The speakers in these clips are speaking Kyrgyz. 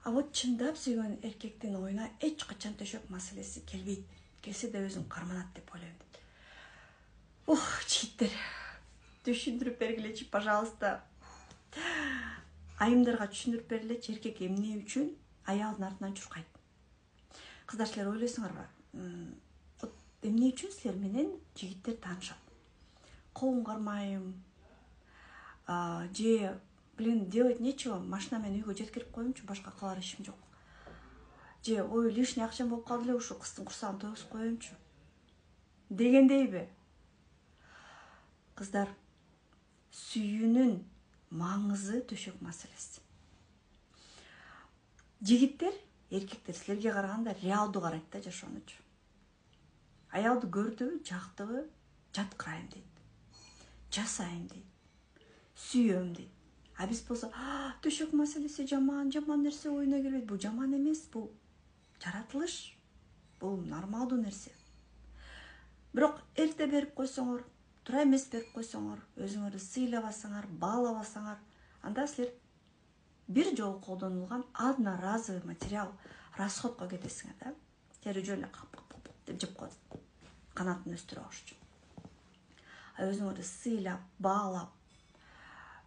А вот чындап сүйгөн эркектин оюна эч качан төшөк маселеси келбейт. Келсе да өзүн карманат деп ойлойм дейт. Жигиттер, түшүндүрүп бергилечи, пожалуйста. Айымдарга түшүндүрүп бергилечи, эркек эмне үчүн аялдын артынан чуркайт. Кыздар, силер ойлойсуңарбы? Эмне үчүн силер менен жигиттер таанышат? Колун кармайм, же делать нечего, машина менен үйгө жеткирип коюмчу, башка кылар ишим жок. Же лишний акчам болуп калды эле, ушу кыздын курсагын тойгузуп коюмчу дегендейби? Кыздар, сүйүүнүн маңызы төшөк маселеси. Жигиттер, эркектер силерге караганда реалдуу карайт да жашоонучу. Аялды көрдүбү, жактыбы, жаткырайм дейт. Жасайм дейт. Сүйөм дейт. А биз болсо, төшөк маселеси жаман нерсе оюна келбейт. Бул жаман эмес, бул жаратылыш. Бул нормалдуу нерсе. Бирок эрте берип койсоңор, туура эмес берип койсоңор, өзүңөрдү сыйлабасаңар, баалабасаңар, анда силер бир жолу колдонулган одноразовый материал расходко кетесиңер да. Силер жөн деп жеп коет. Канатын өстүрө алыш. А өзүңөрдү сыйлап, баалап,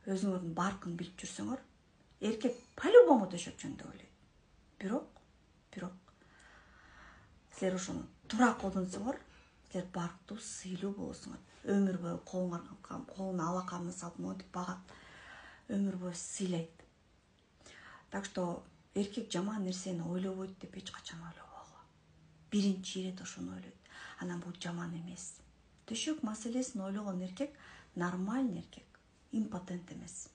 өзүңөрдүн баркын билип жүрсөңөр, эркек по-любому төшөк жөнүндө ойлойт. Бирок силер ошону туура колдонсоңор, силер барктуу, сыйлуу болосуңар. Өмүр бою колуна алаканын салып монтип багат. Өмүр бою сыйлайт. Так что эркек жаман нерсени ойлобойт деп эч качан ойлобогула. Биринчи ирет ошону ойлойт. Анан бул жаман эмес. Төшөк маселесин ойлогон эркек нормальный эркек, импотент эмес.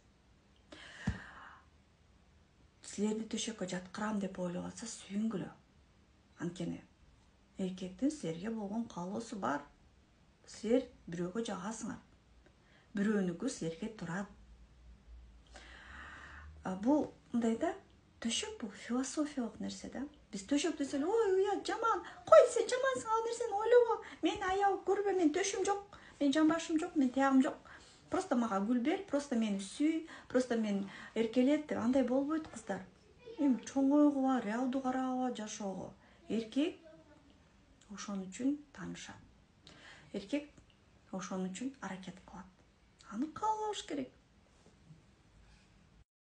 Силерди төшөккө жаткырам деп ойлоп атса, сүйүнгүлө. Анткени эркектин силерге болгон каалоосу бар. Силер бирөөгө жагасыңар. Бирөөнүкү силерге турат. Бул мындай да, төшөк бул философиялык нерсе да. Биз төшөк десе эле, ой, уят, жаман. Кой, сен жамансың, ал нерсени ойлобо. Мени аял көрбө, мен төшүм жок, мен жамбашым жок, мен тиягым жок. Просто мага гүл бер, просто мени сүй, просто мен эркелет деп андай болбойт, кыздар. Эми чоң ойгула, реалдуу карагыла жашоого. Эркек ошон үчүн таанышат. Эркек ошон үчүн аракет кылат. Аны кабыл алыш керек.